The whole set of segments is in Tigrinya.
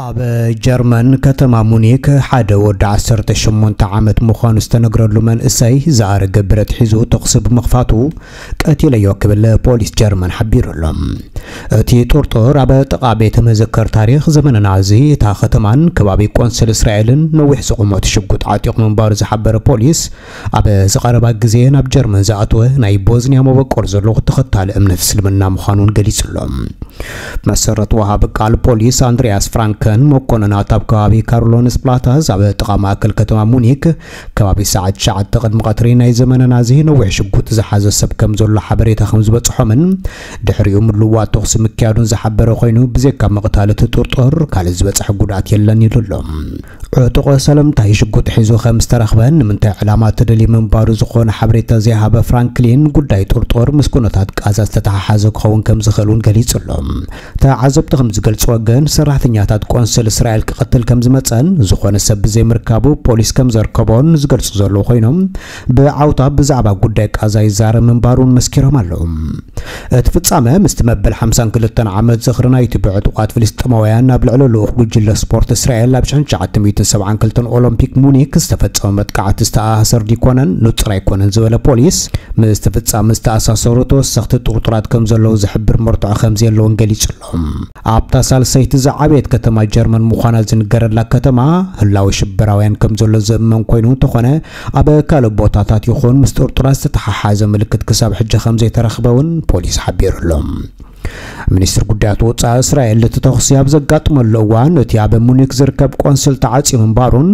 ኣብ ጀርመን ከተማ ሙኒክ ሓደ ወዲ ዓሰርተ ሸሞንተ ዓመት ምዃኑ ዝተነግረሉ መንእሰይ ዝኣረገ ብረት ሒዙ ተኹሲ ብምኽፋቱ ቀቲለዮ ክብል ፖሊስ ጀርመን ሓቢሩ ኣሎ። እቲ ጥርጡር ኣብ ጥቓ ቤተ መዘከር ታሪኽ ዘመነ ናዚ እታ ከተማን ከባቢ ቆንስል እስራኤልን ነዊሕ ዝቑመት ሽጉጥ ዓጢቑ ምንባሩ ዝሓበረ ፖሊስ፣ ኣብ ዝቐረባ ግዜ ናብ ጀርመን ዝኣተወ ናይ ቦዝንያ መበቆል ዘለዎ ተኸታሊ እምነት እስልምና ምዃኑን ገሊጹ ኣሎ። መሰረት ወሃቢ ቃል ፖሊስ ኣንድሪያስ ፍራንከን፣ መኮንናት ኣብ ከባቢ ካርሎንስ ፕላታዝ ኣብ ጥቓ ማእከል ከተማ ሙኒክ ከባቢ ሰዓት ትሽዓተ ቅድሚ ቀትሪ ናይ ዘመነ ናዚ ነዊሕ ሽጉጥ ዝሓዘ ሰብ ከም ዘሎ ሓበሬታ ከም ዝበጽሖምን ድሕሪኡ ምልውዋጥ ተኹሲ ምክያዱን ዝሓበረ ኮይኑ፣ ብዘይካ ምቕታል እቲ ጥርጡር ካልእ ዝበጽሐ ጉድኣት የለን ኢሉ ኣሎ። ዕጡቕ ሰለምታይ ሽጉጥ ሒዙ ከም ዝተረኽበን ንምንታይ ዕላማ ተደልዩ ምንባሩ ዝኾነ ሓበሬታ ዘይሃበ ፍራንክሊን፣ ጉዳይ ጥርጡር ምስ ኩነታት ቃዛ ዝተተሓሓዘ ክኸውን ከም ዝኽእል እውን ገሊጹ ኣሎ። ተዓዘብቲ ከም ዝገልጽዎ ግን፣ ሰራሕተኛታት ቆንስል እስራኤል ክቐትል ከም ዝመጸን ዝኾነ ሰብ ብዘይምርካቡ ፖሊስ ከም ዘርከቦን ዝገልጹ ዘለዉ ኮይኖም፣ ብዓውታ ብዛዕባ ጉዳይ ቃዛ ይዛረብ ምንባሩን መስኪሮም ኣለዉ። እቲ ፍጻመ ምስቲ መበል ሓምሳን ክልተን ዓመት ዝኽሪ ናይቲ ብዕጡቓት ፍልስጤማውያን ኣብ ልዕሊ ልኡኽ ጉጅለ ስፖርት እስራኤል ኣብ ሽሕን ትሽዓተ ሚእትን ሰብዓን ክልተን ኦሎምፒክ ሙኒክ ዝተፈጸመ መጥቃዕቲ ዝተኣሳሰር ዲኮነን ንጹር ኣይኮነን ዝበለ ፖሊስ፣ ምስቲ ፍጻመ ዝተኣሳሰሩ ተወሰኽቲ ጥርጡራት ከም ዘለዉ ዝሕብር መርትዖ ከም ዘየለውን ገሊጹ ኣሎ። ኣብታ ሳልሰይቲ ዝዓበየት ከተማ ጀርመን ምዃና ዝንገረላ ከተማ፣ ህላወ ሽበራውያን ከም ዘሎ ዝእመን ኮይኑ እንተኾነ፣ ኣብ ካልእ ቦታታት ይኹን ምስ ጥርጡራት ዝተተሓሓዘ ምልክት ክሳብ ሕጂ ከም ዘይተረኽበ እውን ፖሊስ ሓቢሩ ኣሎ። ሚኒስትር ጉዳያት ወጻኢ እስራኤል እቲ ተኹሲ ኣብ ዘጋጥመሉ እዋን፣ እቲ ኣብ ሙኒክ ዝርከብ ቆንስል ተዓጽዩ ምንባሩን፣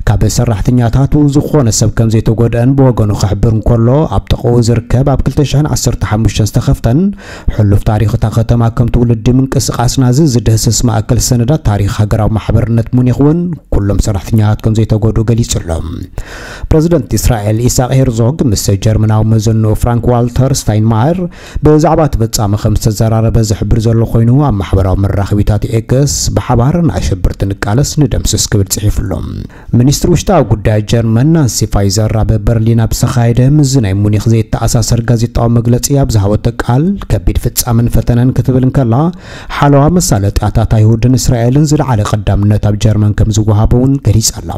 ካብ ሰራሕተኛታቱ ዝኾነ ሰብ ከም ዘይተጎድአን ብወገኑ ክሕብር እንከሎ፣ ኣብ ጥቕኡ ዝርከብ ኣብ ክልተ ሽሕን ዓሰርተ ሓሙሽተን ዝተኸፍተን ሕሉፍ ታሪኽ እታ ከተማ ከም ትውልዲ ምንቅስቓስ ናዚ ዝድህስስ ማእከል ሰነዳት ታሪኽ ሃገራዊ ማሕበርነት ሙኒክ እውን ኩሎም ሰራሕተኛታት ከም ዘይተጎድኡ ገሊጹ ኣሎ። ፕረዚደንት እስራኤል ኢሳቅ ሄርዞግ ምስ ጀርመናዊ መዘንኡ ፍራንክ ዋልተር ስታይንማየር ብዛዕባ እቲ ፍጻመ ከም ዝተዘራረበ ዝሕብር ዘሎ ኮይኑ፣ ኣብ ማሕበራዊ መራኸቢታት ኤክስ ብሓባር ንኣሸበርቲ ንቃለስ ንደምስስ ክብል ጽሒፉ ኣሎ። ሚኒስትሪ ውሽጣዊ ጉዳይ ጀርመን ናንሲ ፋይዘር ኣብ በርሊን ኣብ ዝተኻየደ ምስዚ ናይ ሙኒክ ዘይተኣሳሰር ጋዜጣዊ መግለጺ ኣብ ዝሃበቶ ቃል፣ ከቢድ ፍጻመን ፈተነን ክትብል እንከላ፣ ሓለዋ መሳለጥያታት ኣይሁድን እስራኤልን ዝለዓለ ቀዳምነት ኣብ ጀርመን ከም ዝወሃቦ እውን ገሊጻ ኣላ።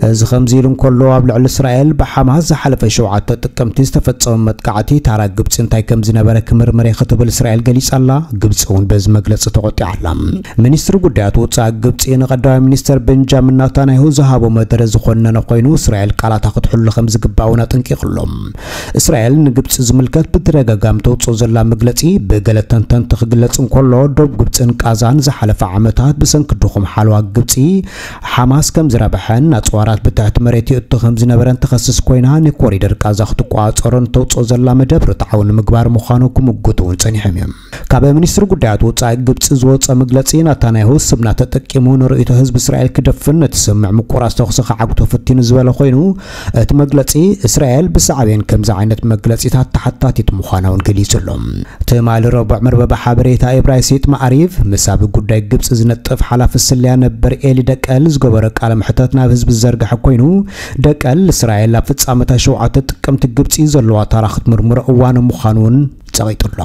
እዚ ከምዚ ኢሉ እንከሎ፣ ኣብ ልዕሊ እስራኤል ብሓማስ ዝሓለፈ ሸውዓተ ጥቅምቲ ዝተፈጸመ መጥቃዕቲ ታራ ግብጺ እንታይ ከም ዝነበረ ክምርምር እየ ክትብል እስራኤል ገሊጻ ኣላ። ግብጺ እውን በዚ መግለጺ ተቖጢዓ ኣላ። ሚኒስትሪ ጉዳያት ወጻኢ ግብጺ ንቀዳማይ ሚኒስተር ቤንጃሚን ናታንያሁ ዝሃቦ መደረ ዝኾነነ ኮይኑ፣ እስራኤል ቃላታ ክትሕሉ ከም ዝግባእ እውን ኣጠንቂቑ ኣሎ። እስራኤል ንግብጺ ዝምልከት ብተደጋጋሚ ተውጽኦ ዘላ መግለጺ፣ ብገለ ተንተንቲ ክግለጽ እንከሎ፣ ዶብ ግብጽን ቃዛን ዝሓለፈ ዓመታት ብሰንኪ ድኹም ሓለዋ ግብጺ ሓማስ ከም ዝረብሐን ኣጽዋራት ብትሕቲ መሬት ይእቱ ከም ዝነበረን ትኸስስ ኮይና፣ ንኮሪደር ቃዛ ክትቆጻጸሮን ተውጽኦ ዘላ መደብ ርትዓዊ ንምግባር ምዃኑ ክምጉቱ እውን ጸኒሖም እዮም። ካብ ሚኒስትሪ ጉዳያት ወጻኢ ግብጺ ዝወጸ መግለጺ፣ ናታንያሁ ስምና ተጠቂሙ ንርእይቶ ህዝቢ እስራኤል ክደፍን ነቲ ስምምዕ ምቁራጽ ተኹሲ ክዓግቶ ፈቲኑ ዝበለ ኮይኑ፣ እቲ መግለጺ እስራኤል ብሳዕቤን ከምዚ ዓይነት መግለጺታት ተሓታቲት ምዃና እውን ገሊጹ ኣሎ። ትማሊ ረቡዕ መርበብ ሓበሬታ ኤብራይስጥ ማዕሪፍ ምስ ኣብ ጉዳይ ግብጺ ዝነጥፍ ሓላፊ ስለያ ነበር ኤሊ ደቀል ዝገበሮ ቃለ መሕተት ናብ ህዝቢ ዝዘርግሐ ኮይኑ፣ ደቀል እስራኤል ኣብ ፍጻመታት ሸውዓተ ጥቅምቲ ግብጺ ዘለዋ ታራ ክትምርምሮ እዋኑ ምዃኑ እውን ጸቒጡ ኣሎ።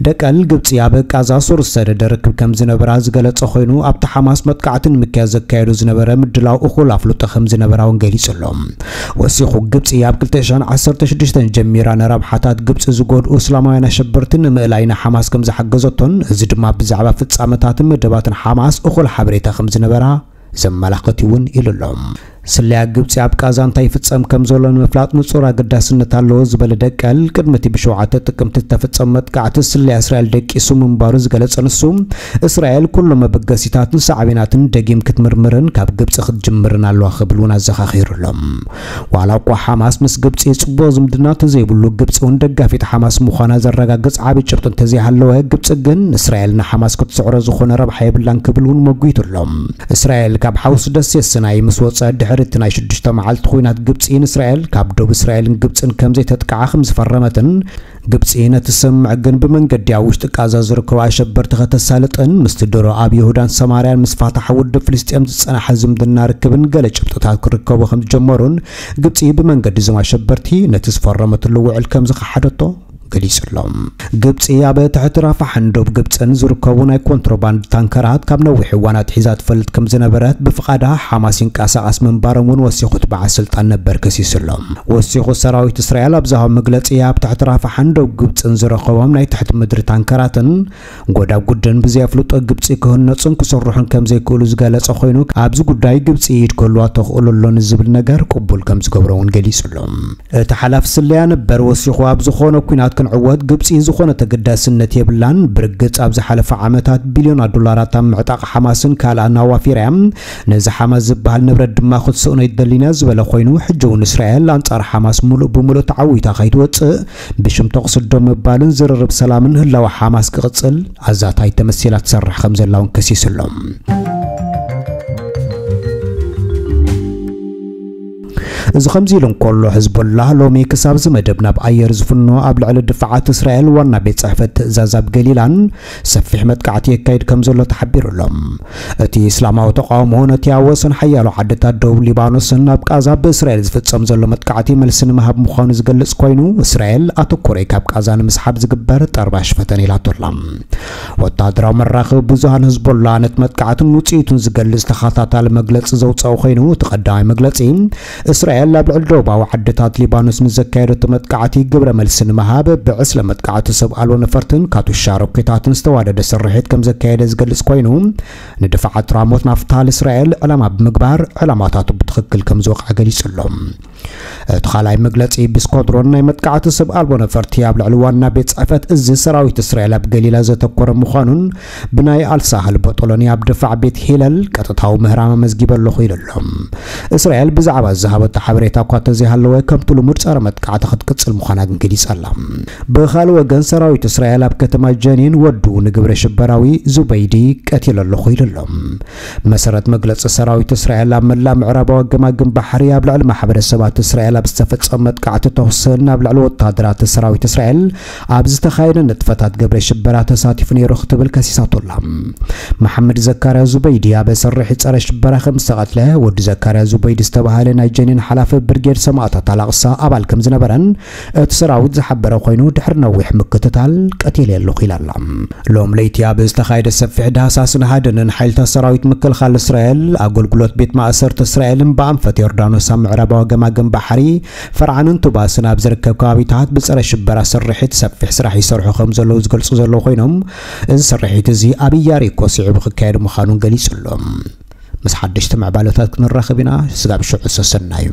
ደቀል ግብጺ ኣብ ቃዛ ሱር ዝሰደደ ርክብ ከም ዝነበራ ዝገለጸ ኮይኑ፣ ኣብቲ ሓማስ መጥቃዕቲ ንምክያድ ዘካየዶ ዝነበረ ምድላው እኹል ኣፍልጦ ከም ዝነበራ እውን ገሊጹ ኣሎ። ወሲኹ፣ ግብጺ ኣብ ክልተ ሽሕን ዓሰርተ ሽዱሽተን ጀሚራ ንረብሓታት ግብጺ ዝጎድኡ እስላማውያን ኣሸበርቲ ንምእላይ ንሓማስ ከም ዝሓገዘቶን፣ እዚ ድማ ብዛዕባ ፍጻመታትን መደባትን ሓማስ እኹል ሓበሬታ ከም ዝነበራ ዘመላኽት እውን ኢሉ ኣሎ። ስለያ ግብጺ ኣብ ቃዛ እንታይ ይፍጸም ከም ዘሎ ንምፍላጥ ንጹር ኣገዳስነት ኣለዎ ዝበለ ደቀል፣ ቅድሚ እቲ ብሸውዓተ ጥቅምቲ ዝተፈጸመ መጥቃዕቲ ስለያ እስራኤል ደቂሱ ምንባሩ ዝገለጸ ንሱ፣ እስራኤል ኩሎም መበገሲታትን ሳዕቤናትን ደጊም ክትምርምርን ካብ ግብጺ ክትጅምርን ኣለዋ ክብል እውን ኣዘኻኺሩ ኣሎ። ዋላ እኳ ሓማስ ምስ ግብጺ ጽቡቕ ዝምድና ተዘይብሉ፣ ግብጺ እውን ደጋፊት ሓማስ ምዃና ዘረጋግጽ ዓቢ ጭብጢ እንተዘይሃለወ፣ ግብጺ ግን እስራኤል ንሓማስ ክትስዕሮ ዝኾነ ረብሓ የብላን ክብል እውን መጒቱ ኣሎ። እስራኤል ካብ ሓውሲ ደሴት ሲናይ ምስ ወጸት ድሕሪ እቲ ናይ ሽዱሽተ መዓልቲ ኲናት፣ ግብጺ ንእስራኤል ካብ ዶብ እስራኤልን ግብጽን ከም ዘይተጥቅዓ ከም ዝፈረመትን፣ ግብጺ ነቲ ስምምዕ ግን ብመንገዲ ኣብ ውሽጢ ቃዛ ዝርከቡ ኣሸበርቲ ከተሳልጥን ምስቲ ድሮ ኣብ ይሁዳን ሰማርያን ምስ ፋታሕ ውድብ ፍልስጤም ዝጸናሐ ዝምድና ርክብን ገለ ጭብጥታት ክርከቡ ከም ዝጀመሩን፣ ግብጺ ብመንገዲ እዞም ኣሸበርቲ ነቲ ዝፈረመትሉ ውዕል ከም ዝኸሓደቶ ገሊጹ ኣሎ። ግብጺ ኣብ ትሕቲ ራፋሕን ዶብ ግብጽን ዝርከቡ ናይ ኮንትሮባንድ ታንከራት ካብ ነዊሕ እዋን ኣትሒዛ ትፈልጥ ከም ዝነበረት፣ ብፍቓዳ ሓማስ ይንቀሳቐስ ምንባሮም እውን ወሲኹ እቲ በዓል ስልጣን ነበር ከሲሱ ኣሎ። ወሲኹ ሰራዊት እስራኤል ኣብ ዝሃቦ መግለጺ፣ ኣብ ትሕቲ ራፋሕን ዶብ ግብጽን ዝረኸቦም ናይ ትሕቲ ምድሪ ታንከራትን ጎዳጉድን ብዘየፍልጦ ግብጺ ክህነጹን ክስርሑን ከም ዘይክእሉ ዝገለጸ ኮይኑ፣ ኣብዚ ጉዳይ ግብጺ ኢድ ክህልዋ ተኽእሎ ኣሎ ንዝብል ነገር ቅቡል ከም ዝገብሮ እውን ገሊጹ ኣሎ። እቲ ሓላፊ ስለያ ነበር ወሲኹ፣ ኣብ ዝኾነ ኲናት ክንዕወት ግብጺ ዝኾነ ተገዳስነት የብላን። ብርግጽ ኣብ ዝሓለፈ ዓመታት ቢልዮናት ዶላራት ኣብ ምዕጣቕ ሓማስን ካልኣን ኣዋፊራ እያ። ነዚ ሓማስ ዝበሃል ንብረት ድማ ክትስእኖ ኣይደልን እያ ዝበለ ኮይኑ፣ ሕጂ እውን እስራኤል ኣንጻር ሓማስ ሙሉእ ብሙሉእ ተዓዊታ ከይትወጽእ ብሽም ተቕስዶ ምባልን ዝርርብ ሰላምን ህላወ ሓማስ ክቕጽል ኣዛታይ ተመሲላ ትሰርሕ ከም ዘላ እውን ከሲሱ ኣሎ። እዚ ከምዚ ኢሉ እንከሎ፣ ሕዝቦላህ ሎሚ ክሳብ እዚ መደብ ናብ ኣየር ዝፍኖ ኣብ ልዕሊ ድፋዓት እስራኤል ዋና ቤት ጽሕፈት ትእዛዝ ኣብ ገሊላን ሰፊሕ መጥቃዕቲ የካይድ ከም ዘሎ ተሓቢሩ ኣሎ። እቲ እስላማዊ ተቃውሞ ነቲ ኣብ ወሰን ሓያሎ ዓድታት ደቡብ ሊባኖስን ኣብ ቃዛ ብእስራኤል ዝፍጸም ዘሎ መጥቃዕቲ መልሲ ንምሃብ ምዃኑ ዝገልጽ ኮይኑ፣ እስራኤል ኣተኮረይ ካብ ቃዛ ንምስሓብ ዝግበር ጠርባሽ ፈተነ ኢላቶ ኣላ። ወታደራዊ መራኸቢ ብዙሃን ህዝቦላ ነቲ መጥቃዕትን ውጽኢቱን ዝገልጽ ተኸታታሊ መግለጺ ዘውጸኦ ኮይኑ፣ እቲ ቀዳማይ መግለጺ እስራኤል ኣብ ልዕሊ ደቡባዊ ዓድታት ሊባኖስ ንዘካየደቶ መጥቃዕቲ ግብረ መልሲ ንምሃብ ብዕስለ መጥቃዕቲ ሰብ ኣልቦ ነፈርትን ካቱሻ ሮኬታትን ዝተዋደደ ስርሒት ከም ዘካየደ ዝገልጽ ኮይኑ፣ ንድፋዓት ራሞት ናፍታል እስራኤል ዕላማ ብምግባር ዕላማታቱ ብትኽክል ከም ዝወቕዐ ገሊጹ ኣሎ። እቲ ካልኣይ መግለጺ ብስኳድሮን ናይ መጥቃዕቲ ሰብ ኣልቦ ነፈርቲ ኣብ ልዕሊ ዋና ቤት ጽሕፈት እዚ ሰራዊት እስራኤል ኣብ ገሊላ ዘተኮረ ምዃኑን ብናይ ኣልሳህል ቦጦሎኒ ኣብ ድፋዕ ቤት ሂለል ቀጥታዊ ምህራም ኣመዝጊበ ኣለኹ ኢሉ ኣሎ። እስራኤል ብዛዕባ ዝሃበቶ ሓበሬታ እኳ ተዘይሃለወ፣ ከምቲ ልሙድ ጸረ መጥቃዕቲ ክትቅጽል ምዃና ግን ገሊጻ ኣላ። ብኻልእ ወገን ሰራዊት እስራኤል ኣብ ከተማ ጀኒን ወዱ ንግብረ ሽበራዊ ዙበይዲ ቀቲለ ኣለኹ ኢሉ ኣሎ። መሰረት መግለጺ ሰራዊት እስራኤል ኣብ መላእ ምዕራባዊ ገማግም ባሕሪ ኣብ ልዕሊ ማሕበረሰባት እስራኤል ኣብ ዝተፈጸመ መጥቃዕቲ ተኹስን ኣብ ልዕሊ ወታደራት ሰራዊት እስራኤል ኣብ ዝተኻየደ ንጥፈታት ግብረ ሽበራ ተሳቲፉ ነይሩ ክትብል ከሲሳቶ ኣላ። መሓመድ ዘካርያ ዙበይዲ ኣብ ስርሒት ጸረ ሽበራ ከም ዝተቐትለ፣ ወዲ ዘካርያ ዙበይዲ ዝተባህለ ናይ ጀኒን ሓላፊ ብርጌድ ሰማእታት ኣላቕሳ ኣባል ከም ዝነበረን እቲ ሰራዊት ዝሓበረ ኮይኑ፣ ድሕሪ ነዊሕ ምክትታል ቀቲለ ኣለኹ ኢላ ኣላ። ሎም ለይቲ ኣብ ዝተኻየደ ሰፊሕ ዳህሳስን ሃደንን ሓይልታት ሰራዊት ምክልኻል እስራኤል፣ ኣገልግሎት ቤት ማእሰርቲ እስራኤልን ብኣንፈት ዮርዳኖስ ኣብ ምዕራባዊ ገማግም ባሕሪ ፈርዓንን ቱባስን ኣብ ዝርከብ ከባቢታት ብጸረ ሽበራ ስርሒት ሰፊሕ ስራሕ ይሰርሑ ከም ዘለዉ ዝገልጹ ዘለዉ ኮይኖም፣ እዚ ስርሒት እዚ ኣብ ኢያሪኮ ስዒቡ ክካየድ ምዃኑን ገሊጹ ኣሎ። ምስ ሓደሽቲ ምዕባለታት ክንራኸብ ኢና። ስጋብ ሽዑ ሰሰናዩ።